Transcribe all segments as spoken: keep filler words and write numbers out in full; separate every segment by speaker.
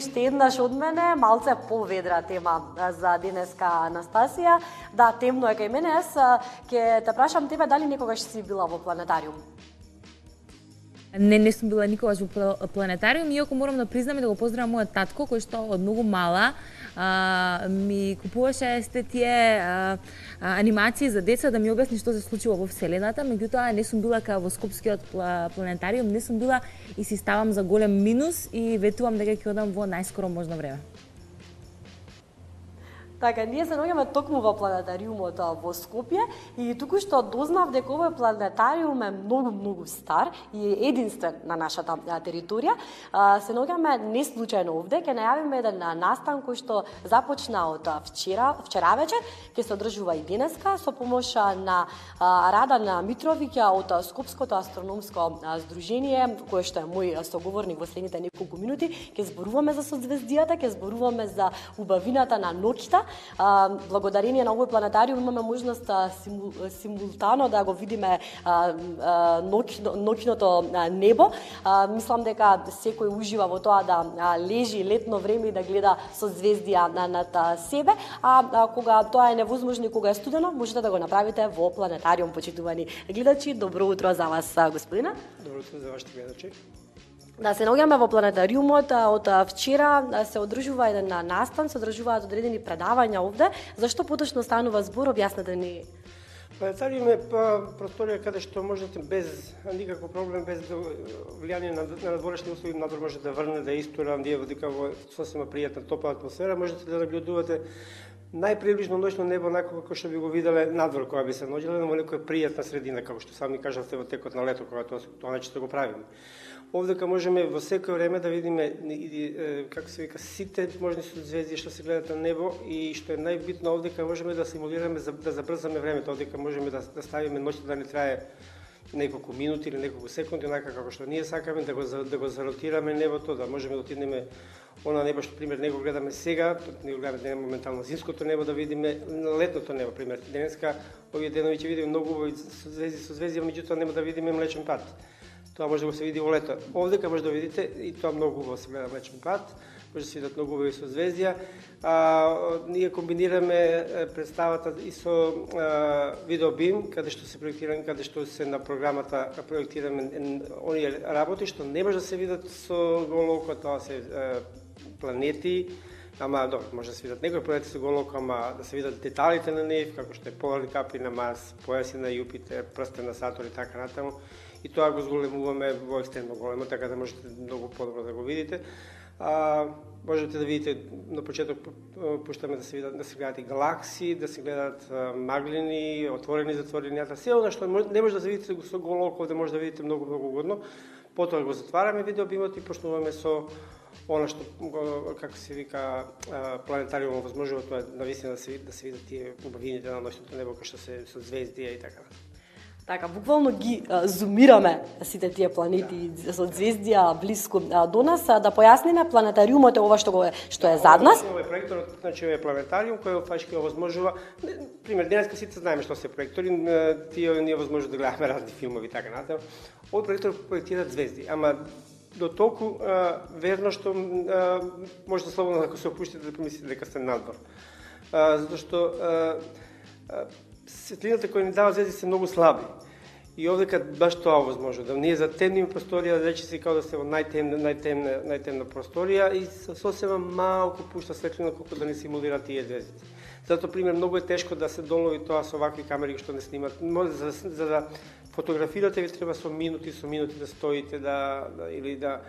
Speaker 1: уште еднаш од мене, малце поведра тема за денеска, Анастасија. Да, темно е кај мене. Јас ќе те прашам тебе дали некогаш си била во планетариум?
Speaker 2: Не, не сум била никогаш во планетариум, иако морам да признам и да го поздравам мојот татко, кој што од многу мала а, ми купуваше сите тие а, а, анимации за деца да ми објасни што се случува во Вселената, меѓутоа не сум била кај во Скопскиот планетариум, не сум била и си ставам за голем минус и ветувам дека ќе одам во најскоро можно време.
Speaker 1: Така, ние се наоѓаме токму во планетариумот во Скопје и туку што дознав дека овој планетариум е многу, многу стар и е единствен на нашата територија. Се наоѓаме не случајно овде, ќе најавиме еден настан кој што започна од вчера, вчера вечер, ќе се одржува и денеска со помош на Радан Митровиќ од Скопското астрономско здружение, кој што е мој соговорник во следните неколку минути. Ќе зборуваме за созвездијата, ќе зборуваме за убавината на ноќта. Благодарение на овој планетариум имаме можност симул, симултано да го видиме ноќ, ноќното небо. Мислам дека секој ужива во тоа да лежи летно време и да гледа созвездија над себе, а кога тоа е невозможно и кога е студено, можете да го направите во планетариум, почитувани гледачи. Добро утро за вас, господина.
Speaker 3: Добро утро за вашите гледачи.
Speaker 1: Да, се наоѓаме во планетариумот, од вчера се одржува еден настан, се одржуваат одредени предавања овде. Зашто поточно станува збор, објаснете ни?
Speaker 3: Планетариум е просторија каде што можете без никаков проблем, без влијание на надворешни услови, надвор може да врне, да истура, ние дека во сосема пријатна топла атмосфера, можете да наблюдувате најприближно ноќно небо онако како што би го виделе надвор кога би се наоѓале во некоја пријатна средина, како што сами кажавте во текот на лето, кога тоа тоа нечето го правиме. Овдека можеме во секој време да видиме како се вика сите можни созвездија што се гледат на небо и што е најбитно овдека можеме да симулираме да забрзаме времето, овдека можеме да, да ставиме ноќта да не трае неколку минути или неколку секунди, онака како што ние сакаме да го да го заротираме небото, да можеме да отидеме она небо што пример не го гледаме сега, не го гледаме моментално зимското небо, да видиме летното небо пример. Денеска овие денови ќе видиме многу убави созвездија, созвездија, меѓутоа нема да видиме Млечен пат. Тоа може да го се види во лето. Овдека може да видите и тоа многу убаво се гледа Млечен пат, може да се видат многу убави созвездија. А, ние комбинираме представата и со а, видеобим, каде што се проектираме, каде што се на програмата проектираме оние работи што не може да се видат со голо око, тоа се а, планети, ама добро, може да се видат некои планети со голо око, ама да се видат деталите на нив, како што е поларни капи на Марс, појаси на Јупитер, прстен на Сатурн и така натаму. И тоа го зголемуваме во екстремно големо, така да можете многу подобро да го видите. А, можете да видите на почеток пуштаме да се видат да се гледат и галаксии, да се гледат а, маглини, отворени затворенијата, се она што не може да се видите со голо око, да може да видите многу многу угодно. Потоа го затвараме видеобимот и почнуваме со она што како се вика планетариумот возможува тоа навистина да се да се видат тие убавините на ноќното небо кои што се созвездија и така.
Speaker 1: Така, буквално ги а, зумираме сите тие планети да. Со звездија блиску а, до нас. А, да појасниме, планетариумот е ова што го е, што е зад нас.
Speaker 3: Ова е проекторот, значи е планетариум кој фактички овозможува, пример денеска сите знаеме што се проектори, тие ние овозможува да гледаме разни филмови и така натаму. Овој проектор проектира звезди, ама до толку а, верно што а, може да слободно ако се опуштите да помислите дека сте надвор. А, затоа што а, а, светлината која ни дава звезди се многу слаби. И овдека баш тоа возможно, да ние затемниме просторија, да рече се како да се во најтемна, најтемна, најтемна просторија и сосема малку пушта светлина колку да не симулира тие звезди. Затоа пример многу е тешко да се долови тоа со вакви камери што не снимат. Може за, за да фотографирате ви треба со минути, со минути да стоите да, да или да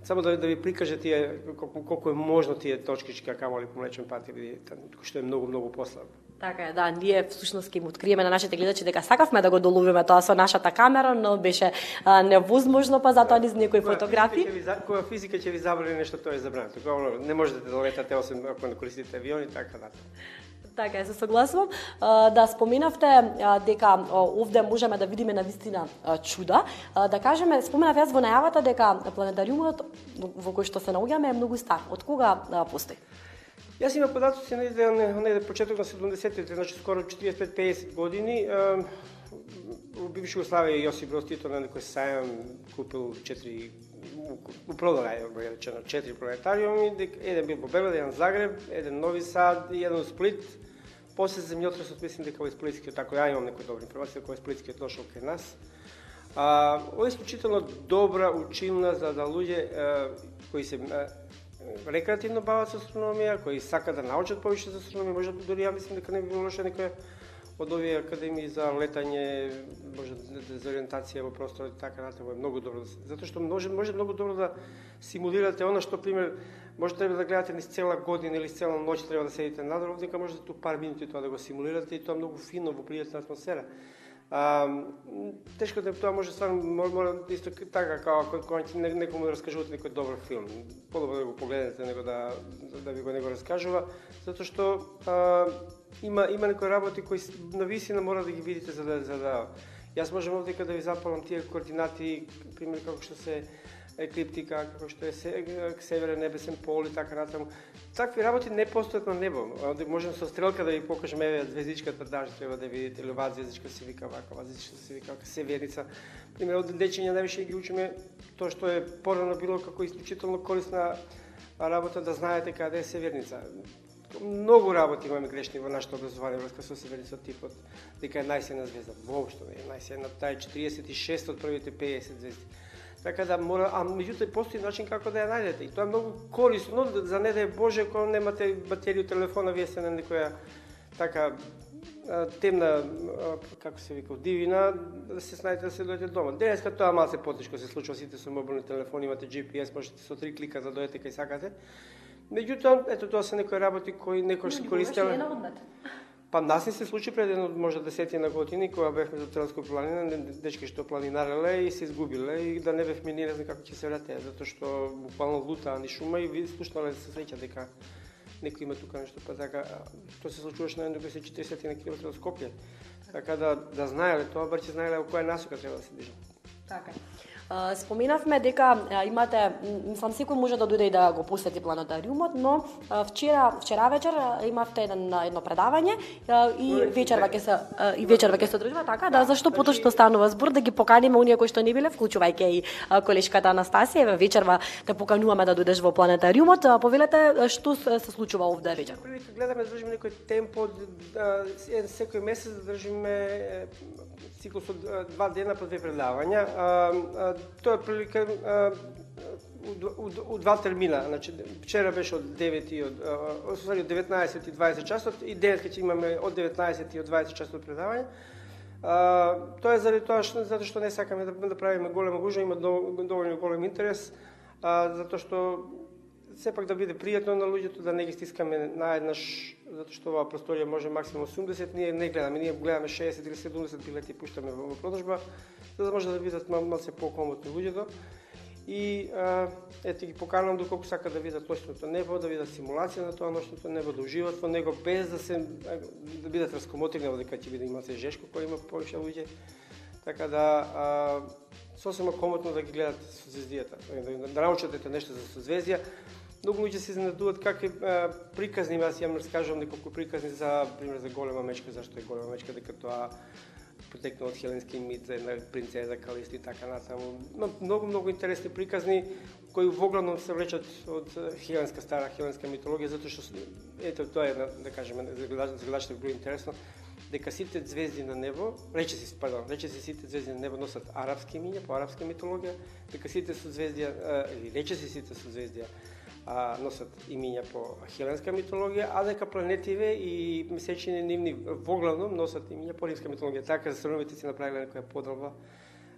Speaker 3: само да, да ви прикаже тие колку, колку е можно тие точкички камоли по Млечен пат или што е многу многу послабо.
Speaker 1: Така е, да, ние всушност ќе им откриеме на нашите гледачи дека сакавме да го доловиме тоа со нашата камера, но беше а, невозможно, па затоа низ некои фотографии.
Speaker 3: Кога физика ќе ви забрани нешто, тоа е забрането. Кога не можете да летате освен ако не користите авиони, така да.
Speaker 1: Така е, се согласувам. Да споменавте дека овде можеме да видиме навистина чуда. Да кажеме, споменав јас во најавата дека планетариумот во кој што се наоѓаме е многу стар. Од кога постои?
Speaker 3: Јас имам податоци на еден почеток на седумдесеттите, значи скоро четиридесет пет педесет години. Во бивша Југославија Јосип Брос Тито на некој сајам купил четири у продолај, ја речено, четири планетариуми, еден бил во Белград, еден Загреб, еден Нови Сад и еден Сплит. После земјотресот, мислим дека овој сплитскиот, ако ја имам некој добра информација, дека овој сплитскиот дошол кај нас. А, ова е исклучително добра училна за да луѓе кои се рекреативно бават со астрономија, кои сакаат да научат повеќе за астрономија, може дури ја мислим дека не би било лошо некоја од овие академии за летање, може за ориентација во просторот и така натаму е многу добро, затоа што може може многу добро да симулирате она што пример може треба да гледате низ цела година или цела ноќ треба да седите надвор, дека може да ту пар минути тоа да го симулирате и тоа многу фино во пријатна атмосфера. А, тешко да тоа може стварно мора исто така како кога некому да раскажувате некој добар филм. Подобро да го погледнете него да да ви го него раскажува, затоа што а, има има некои работи кои нависина мора да ги видите за да за да јас можам овдека да ви запалам тие координати, пример како што се еклиптика, како што е северен небесен пол и така натаму. Такви работи не постојат на небо. Можем со стрелка да ви покажеме еве звездичката даже треба да видите или оваа звездичка се вика вака, оваа звездичка се вика вака, северница. Пример од дечиња највише ги учиме тоа што е порано било како исклучително корисна работа да знаете каде е северница. Многу работи имаме грешни во нашето образование врска со северницот типот, дека е најсилна звезда. Воопшто не е најсилна, таа е четириесет и шест од првите пеесет звезди. Така да мора, а меѓутоа постои начин како да ја најдете. И тоа е многу корисно, за не да е Боже, кога немате батерија телефона, вие сте на некоја така темна, како се вика, дивина, да се снајдете да се дојдете дома. Денеска тоа малце потешко се случува, сите со мобилни телефони, имате Джи Пи Ес, можете со три клика да дојдете кај сакате. Меѓутоа, ето тоа се некои работи кои некој се користеле. Па нас не се случи пред едно може десетина години кога бевме за Тренској планина, дечки што планинареле и се изгубиле и да не бевме ни не знам како ќе се вратеа, затоа што буквално лутаа ни шума и ви слушнале се среќа дека некој има тука нешто, па така тоа се случуваше на едно четиридесет километри од Скопје. Така да да знаеле тоа, бар ќе знаеле во која насока треба да се движат.
Speaker 1: Така. Споменавме дека имате, мислам секој може да дојде и да го посети планетариумот, но вчера вчера вечер имавте еден едно предавање и вечерва ќе се и вечерва ќе се одржува, така да зашто поточно станува збор да ги поканиме оние кои што не биле, вклучувајќи и колешката Анастасија, еве вечерва те покануваме да дојдеш во планетариумот. Повелете што се случува овде вечер.
Speaker 3: Првите гледаме да држиме некој темпо, секој месец да држиме циклус од два дена по две предавања. Тоа е прилика у два термина, значи вчера беше од девет и од од деветнаесет и дваесет часот и денеска ќе имаме од деветнаесет и од дваесет часот предавање. Тоа е заради тоа што затоа што не сакаме да, да правиме голема гужва, има доволно голем интерес, затоа што сепак да биде пријатно на луѓето, да не ги стискаме наеднаш, затоа што оваа просторија може максимум осумдесет, ние не гледаме, ние гледаме шеесет или седумдесет билети и пуштаме во продажба, за да може да видат малце покомотно луѓето. И ете ги поканувам доколку сака да видат ноќното небо, да видат симулација на тоа ноќното небо, да уживат во него без да се да бидат раскомотрени, дека ќе биде малце жешко кој има повеќе луѓе. Така да а, сосема комотно да ги гледат созвездијата, да, да научат ете нешто за созвездија. Многу луѓе се изненадуваат какви приказни, јас ја раскажувам неколку приказни за пример за голема мечка, зашто е голема мечка, дека тоа потекнува од хеленски мит за една принцеза Калиста и така натаму. Многу многу интересни приказни кои воглавном се влечат од хеленска стара хеленска митологија, затоа што ето тоа е да кажеме за гледачите било интересно дека сите звезди на небо, рече се, пардон, рече се сите звезди на небо носат арапски имиња по арапска митологија, дека сите созвездија или рече се сите созвездија а, носат имиња по хеленска митологија, а дека планетиве и месечини нивни воглавном носат имиња по римска митологија. Така астрономите си направиле некоја поделба.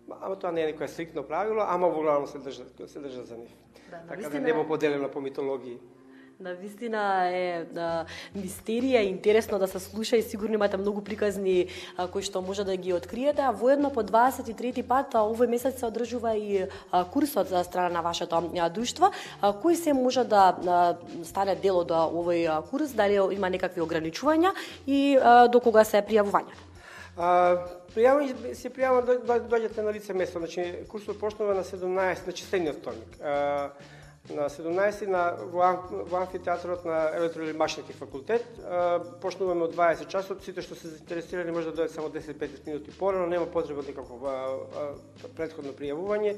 Speaker 3: Ама тоа не е некоја стриктно правило, ама воглавном се држат, се држат за нив. Да, така да небо поделено по митологии.
Speaker 1: На вистина е да, мистерија, интересно да се слуша и сигурно имате многу приказни а, кои што може да ги откриете. А воедно по дваесет и трети пат а, овој месец се одржува и а, курсот за страна на вашето а, друштво. А, кој се може да а, стане дел од овој а, курс, дали има некакви ограничувања и а, до кога се пријавување?
Speaker 3: Пријавување се пријавува да дојдете на лице место. Значи курсот почнува на седумнаесет, значи следниот вторник. А, на седумнаесет на во, во амфитеатрот на Електро или Машински факултет. Почнуваме од дваесет часот, сите што се заинтересирани може да дојдат само десет до петнаесет минути порано, нема потреба никакво претходно пријавување.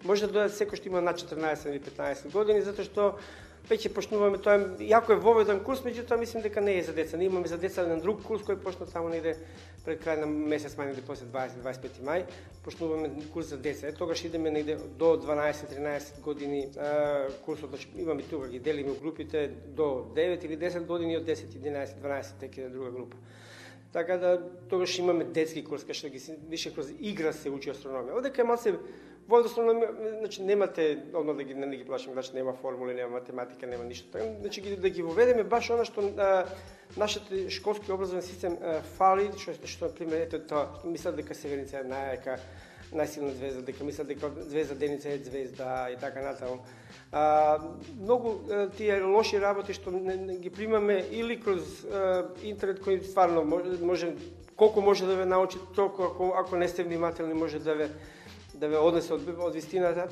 Speaker 3: Може да дојдат секој што има над четрнаесет или петнаесет години, затоа што веќе почнуваме тоа, јако е воведен курс, меѓутоа мислам дека не е за деца. Ние имаме за деца еден друг курс кој почна само негде пред крај на месец мај, негде после дваесет до дваесет и пети мај, почнуваме курс за деца. Е, тогаш идеме негде до дванаесет-тринаесет години а, курсот, значи имаме тука ги делиме групите до девет или десет години, од десет, единаесет, дванаесет текаде друга група. Така да тогаш имаме детски курс кај што ги више кроз игра се учи астрономија. Одека е малце во астрономија, значи немате одно да ги не ги плашим, значи нема формули, нема математика, нема ништо така. Значи ги да ги воведеме баш она што а, нашиот школски образовен систем а, фали, што што на пример ето тоа, мислат дека Северница е најака, најсилна звезда, дека мислат дека звезда Деница е звезда и така натаму. А, многу а, тие лоши работи што не, не ги примаме или кроз а, интернет кој стварно може, може колку може да ве научи, толку ако ако не сте внимателни може да ве да ве однесе од, од вистината.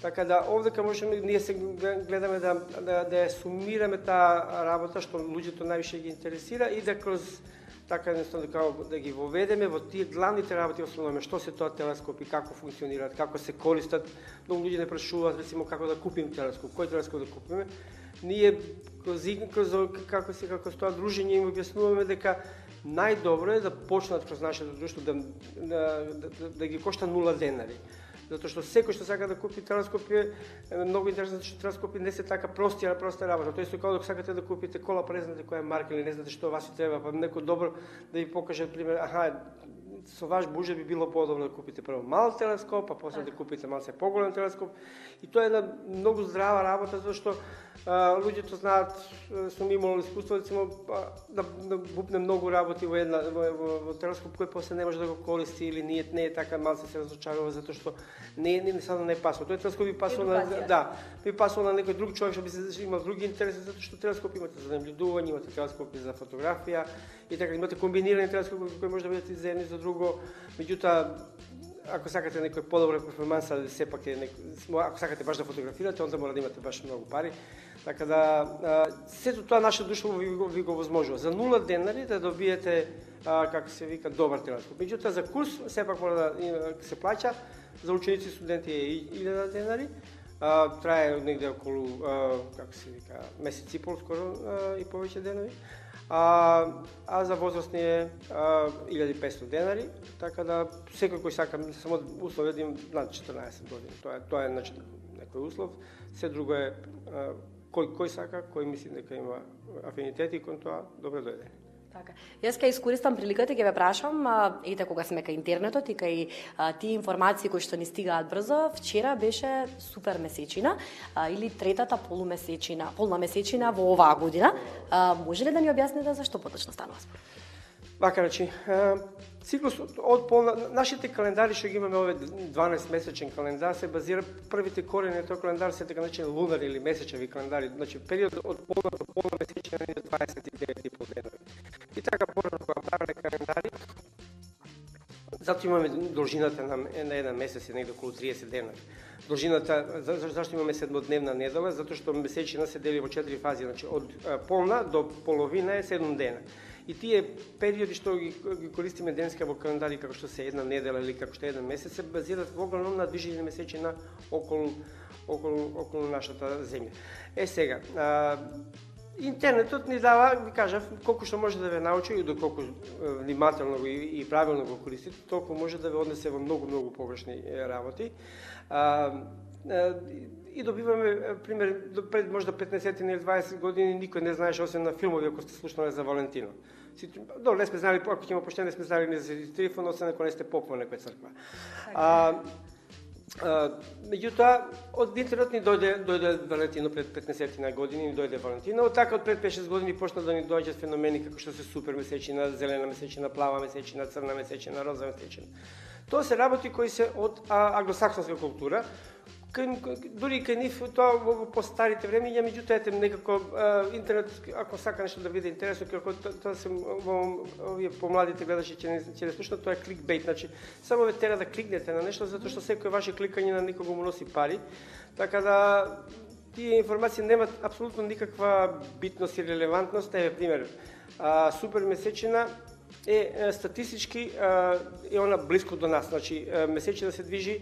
Speaker 3: Така да овдека можеме ние се гледаме да да да ја сумираме таа работа што луѓето највише ги интересира и да кроз така едноставно да, да ги воведеме во тие главните работи основно што се тоа телескопи, како функционираат, како се користат. Многу луѓе не прашуваат рецимо како да купиме телескоп, кој телескоп да купиме. Ние кроз кроз како се како тоа дружење им објаснуваме дека најдобро е да почнат кроз нашето друштво да, да, да, да ги кошта нула денари. Затоа што секој што сака да купи телескоп е многу интересно, што телескопи не се така прости, а проста работа. Тоа е како да сакате да купите кола, па не знаете која е марка или не знаете што вас ви треба, па некој добро да ви покаже пример, аха, со ваш буџет би било подобро да купите прво мал телескоп, а после да купите малце поголем телескоп. И тоа е една многу здрава работа, зашто а, луѓето знаат, сум имал искуство рецимо да да бупне многу работи во една во, во, во телескоп кој после не може да го користи или не не е така, малце се разочарува затоа што не не само не пасува. Тој телескоп би пасува на да, би пасува на некој друг човек што би се имал други интереси затоа што телескоп имате за наблюдување, имате телескопи за фотографија и така имате комбинирани телескопи кои може да бидат и за едно и за друго. Меѓутоа ако сакате некој подобра перформанса, сепак е некој, ако сакате баш да фотографирате, онда мора да имате баш многу пари. Така да сето тоа наше друштво ви, ви го возможува. За нула денари да добиете а, како се вика добар телескоп. Меѓутоа за курс сепак мора да се плаќа. За ученици и студенти е илјада денари. А, трае негде околу а, како се вика месец и пол скоро а, и повеќе денови. А, а за возрастни е илјада и петстотини денари, така да секој кој сака само услов да има над четрнаесет години. Тоа е тоа е значи некој услов. Се друго е а, кој кој сака, кој мисли дека има афинитети кон тоа, добро дојде.
Speaker 1: Така. Јас ќе искористам приликата и ќе ве прашам, ете кога сме кај интернетот и кај а, тие информации кои што ни стигаат брзо, вчера беше супер месечина а, или третата полумесечина, полна месечина во оваа година. А, може ли да ни објасните зашто поточно станува според?
Speaker 3: Вака, значи, циклусот од полна, нашите календари што ги имаме овој дванаесет месечен календар се базира првите корени на тој календар се така наречени лунар или месечеви календари, значи период од полна до полна месечина е дваесет и девет и пол денови. И така порано кога правеле календари, затоа имаме должината на, на еден месец е негде околу триесет дена. Должината, за, зашто имаме седмодневна недела? Затоа што месечина се дели во четири фази, значи од полна до половина е седум дена. И тие периоди што ги, ги користиме денеска во календари како што се една недела или како што е еден месец се базираат во огромно на движење месечина околу околу околу нашата земја. Е сега, а, интернетот ни дава, ви кажав, колку што може да ве научи и доколку внимателно и, и правилно го користите, толку може да ве однесе во многу многу погрешни работи. А, а, и добиваме пример пред можда петнаесет или дваесет години никој не знаеше освен на филмови ако сте слушнали за Валентино. Добро, не сме знали, ако ќе има поштено, не сме знали ни за телефон, освен ако не сте поп во некоја црква. А, а, меѓутоа, од интернет ни дојде, дојде Валентино пред петнаесет години, ни дојде Валентино. Од така од пред пет-шест години почна да ни доаѓаат феномени како што се супер месечина, зелена месечина, плава месечина, црна месечина, роза месечина. Тоа се работи кои се од англосаксонска култура. Дури кај нив тоа во постарите времења, меѓутоа ете некако а, интернет ако сака нешто да биде интересно, како тоа се во овие помладите гледачи ќе не ќе не слушнат, тоа е кликбейт, значи само ве тера да кликнете на нешто затоа што секој ваше кликање на никого му носи пари. Така да тие информации немаат апсолутно никаква битност и релевантност. Еве пример, а, супер месечина е статистички е она блиско до нас, значи месечина се движи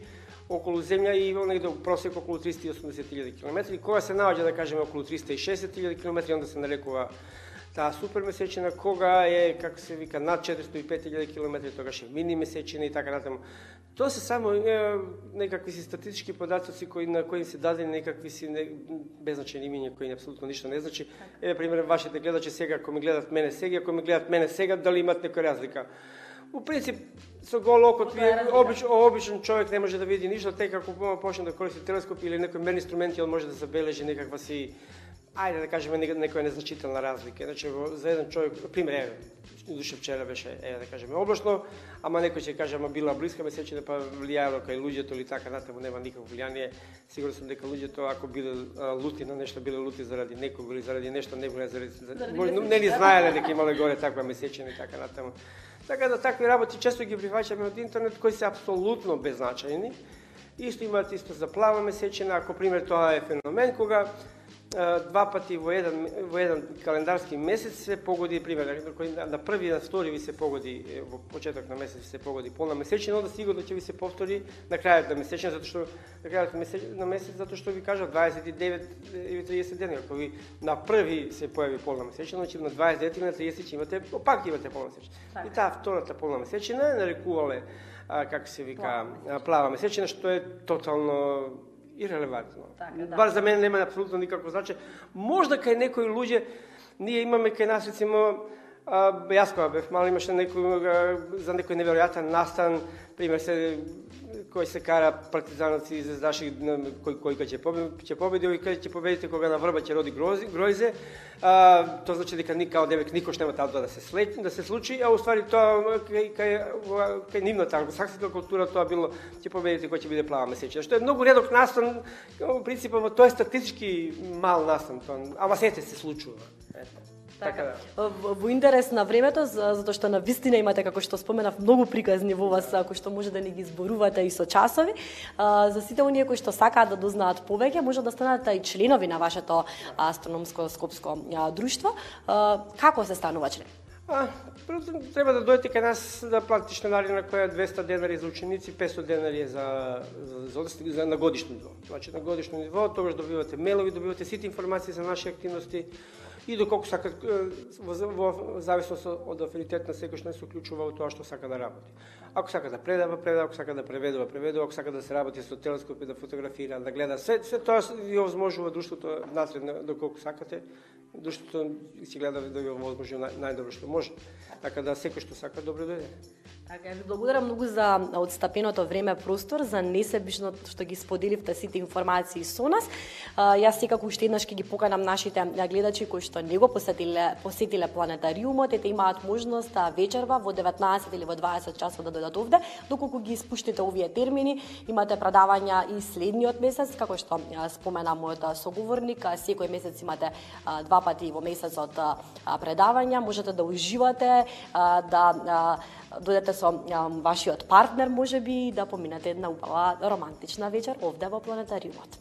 Speaker 3: околу земја и негде просек околу триста и осумдесет илјади километри. Кога се наоѓа, да кажеме, околу триста и шеесет илјади километри, онда се нарекува таа супермесечина. Кога е, како се вика, над четиристо и пет илјади километри, тогаш е мини месечина и така натаму. Тоа се само е, некакви си статистички податоци кои на кои се дадени некакви си не, беззначени имиња кои апсолутно ништо не значи. Еве пример, вашите гледачи сега, ако ме гледат мене сега, ако ме гледат мене сега, дали имат некоја разлика? У принцип, со гол окот, вие обич, обичен човек не може да види ништо, тека ако почне да користи телескоп или некој мер инструменти, он може да забележи некаква си, ајде да кажеме, некоја незначителна разлика. Значи, за еден човек, пример, еве, душе вчера беше, еве да кажеме, облачно, ама некој ќе каже, ама била блиска месечина, па влијаело кај луѓето или така натаму, нема никакво влијание. Сигурно сум дека луѓето, ако биле лути на нешто, биле лути заради некого или заради нешто, не биле заради... заради не ли знаеле дека имале горе таква месечина и така натаму. Така да такви работи често ги прифаќаме од интернет, кои се апсолутно беззначајни. Исто имаат исто за плава месечина, ако пример тоа е феномен, кога два пати во еден во еден календарски месец се погоди, пример, кој на први и на втори ви се погоди во почеток на месец се погоди полна месечина, onda сигурно ќе ви се повтори на крајот на месечина, затоа што на крајот на месец, затоа што ви кажа дваесет и девет или триесет дена, ако ви на први се појави полна месечина, значи на дваесет и девет или на триесет имате, пак имате полна месечина. И таа втората полна месечина нарекувале, како се вика, плава месечина, што е тотално ирелевантно.
Speaker 1: Така, да.
Speaker 3: Бар за мене нема апсолутно никакво значење. Можда кај некои луѓе, ние имаме кај нас, рецимо, јас кога бев мал, имаше некој, за некој неверојатен настан, пример се, кој се кара партизанци и звездаши, кој, кој ќе победи, ќе победи, и кај ќе победите кога на врба ќе роди гројзе, а, тоа значи дека никао девек никош нема таа да се слети, да се случи, а уствари тоа кај кај кај нивната англосакска култура тоа било ќе победите кој ќе биде плава месечина, што е многу редок настан, во принципот тоа е статистички мал настан, тоа, ама сете се случува. Ето.
Speaker 1: Така, така да. Во интерес на времето, затоа што на вистина имате, како што споменав, многу приказни во вас, кои што може да ни ги зборувате и со часови. За сите оние кои што сакаат да дознаат повеќе, може да станат и членови на вашето астрономско скопско друштво. Како се станува член?
Speaker 3: А, треба да дојдете кај нас да платите членарина која е двеста денари за ученици, петстотини денари е за, за, за, за на годишно ниво. Значи на годишно ниво, тогаш добивате мелови, добивате сите информации за наши активности и доколку сакат, во, во зависност од афинитет на секој што не се уклучува во тоа што сака да работи. Ако сака да предава, предава, ако сака да преведува, преведува, ако сака да се работи со телескоп и да фотографира, да гледа, се, се тоа ви овозможува друштвото насред доколку сакате. Друштвото си гледа да ви овозможи нај, најдобро што може. Така да секој што сака добро дојде.
Speaker 1: Така, ви благодарам многу за одстапеното време простор, за несебично што ги споделивте сите информации со нас. Јас секако уште еднаш ќе ги поканам нашите гледачи кои што не го посетиле, посетиле планетариумот, ете имаат можност вечерва во деветнаесет или во дваесет часот да дојдат овде. Доколку ги испуштите овие термини, имате предавања и следниот месец, како што спомена мојот соговорник, секој месец имате два пати во месецот предавања, можете да уживате, да дојдете со вашиот партнер, можеби, да поминете една убава романтична вечер овде во планетариумот.